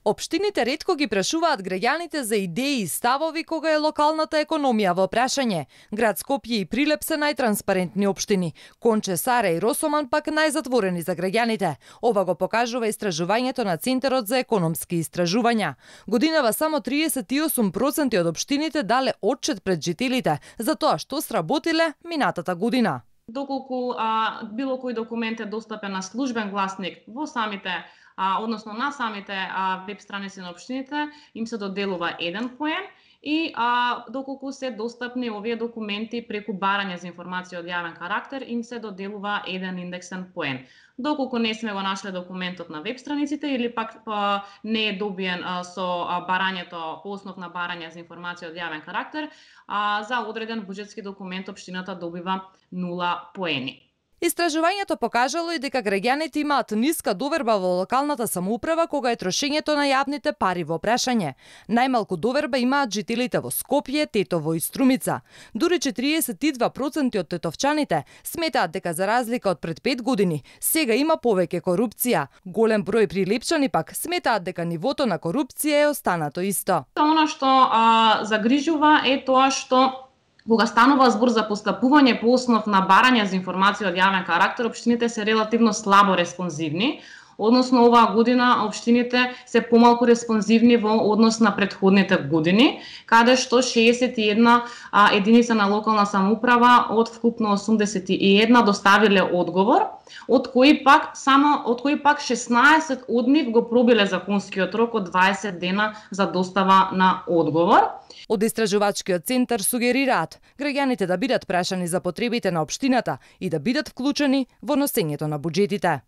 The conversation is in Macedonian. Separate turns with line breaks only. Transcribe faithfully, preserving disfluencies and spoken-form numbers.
Општините ретко ги прашуваат граѓаните за идеи и ставови кога е локалната економија во прашање. Град Скопје и Прилеп се најтранспарентни општини. Конче, Саре и Росоман пак најзатворени за граѓаните. Ова го покажува истражувањето на Центарот за економски истражувања. Годинава само триесет и осум проценти од општините дале отчет пред жителите за тоа што сработиле минатата година.
Доколку а, било кој документ е достапен на службен гласник во самите А, односно на самите а, веб страници на општините, им се доделува еден поен и а, доколку се достапни овие документи преку барање за информација од јавен карактер, им се доделува еден индексен поен. Доколку не сме го нашле документот на веб страниците или пак а, не е добиен а, со а, барањето по основ на барање за информација од јавен карактер, а, за одреден буџетски документ општината добива нула поени.
Истражувањето покажало и дека граѓаните имаат ниска доверба во локалната самоуправа кога е трошењето на јавните пари во прашање. Најмалку доверба имаат жителите во Скопје, Тетово и Струмица. Дури четириесет и два проценти од тетовчаните сметаат дека за разлика од пред пет години, сега има повеќе корупција. Голем број прилепчани пак сметаат дека нивото на корупција е останато исто.
Она што а, загрижува е тоа што кога станува збор за постапување по основ на барање за информација од јавен карактер, општините се релативно слабо респонзивни. Односно, оваа година општините се помалку респонзивни во однос на претходните години, каде што шеесет и една а, единица на локална самоуправа од вкупно осумдесет и една доставиле одговор, од кои пак само од кои пак шеснаесет од нив го пробиле законскиот рок од дваесет дена за достава на одговор.
Од истражувачкиот центар сугерираат граѓаните да бидат прашани за потребите на општината и да бидат вклучени во носењето на буџетите.